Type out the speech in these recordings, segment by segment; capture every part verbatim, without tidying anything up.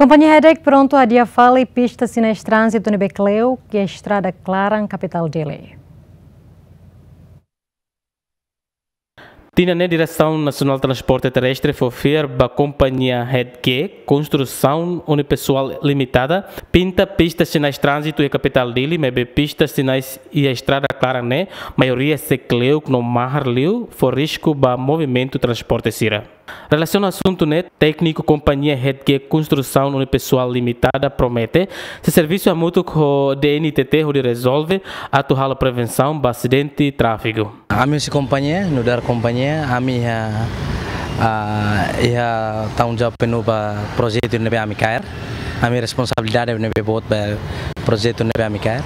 Kompañia Head Geek prontu hadi'a fali pista sinais tránzitu ne'ebé kle'uk iha estrada klaran kapitál Dili. Tinan ne'e Diresaun Nasionál Transporte Terrestre fó fiar ba kompañia Head Geek Konstrusaun Unipessoal Limitada pinta pista sinais tránzitu iha kapitál Dili, maibé pista sinais iha estrada klaran ne'e maioria sei kle'uk no mahar liu, fó risku ba movimentu transporte sira. Relasiona asuntu ne'e, tékniku kompañia Head Geek Konstrusaun Unipessoal Limitada promete sei servisu hamutuk ho D N T T hodi rezolve atu halo prevensaun ba asidente tráfegu. Ami husi kompañia, nu'udar kompañia, ami iha, ah, iha tanggung jawab penuh ba projetu ne'ebé ami kaer. Ami responsabilidade ne'ebé boot ba projetu ne'ebé ami kaer.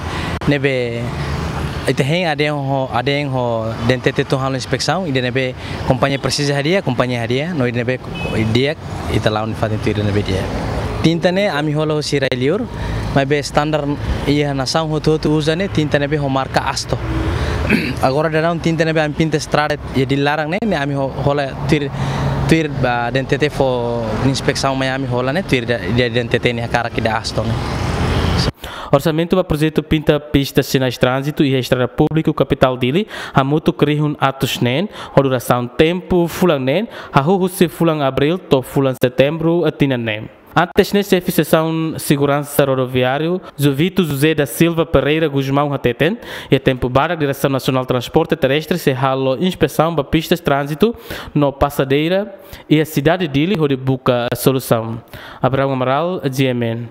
Ne'ebé ita hein aden ho, aden ho D N T T tun halo inspesaun, ida ne'ebé kompañia presiza hadi'a, kompañia hadi'a, no ida ne'ebé di'ak, ita la'o nafatin tuir ida ne'ebé di'ak. Tinta ne'e ami hola husi rai-li'ur, maibé standar iha nasaun hotu-hotu uza ne'e tinta ne'ebé ho marka Asto. Agora daudaun tinta ne'ebé ami pinta estrada iha Dili laran ne'e, ne'e ami ho-, hola tuir, tuir ba D N T T fó inspesaun mai ami hola ne'e, tuir ida, ida D N T T nia hakarak ida Asto ne'e. Orsamentu ba projetu pinta pista sinais tránzitu iha estrada públiku kapitál Dili hamutuk rihun atus neen, ho durasaun tempu fulan neen, hahú husi fulan Abríl to'o fulan Setembru tinan ne'e. Antes ne'e, xefe seksaun seguransa rodoviáriu, Jovito José da Silva Pereira Gusmão hateten, iha tempu badak Diresaun Nasionál Transporte Terrestre sei halo inspesaun ba pistas tránzitu no pasadeira iha sidade Dili hodi buka solusaun. Abraão Amaral, G M N.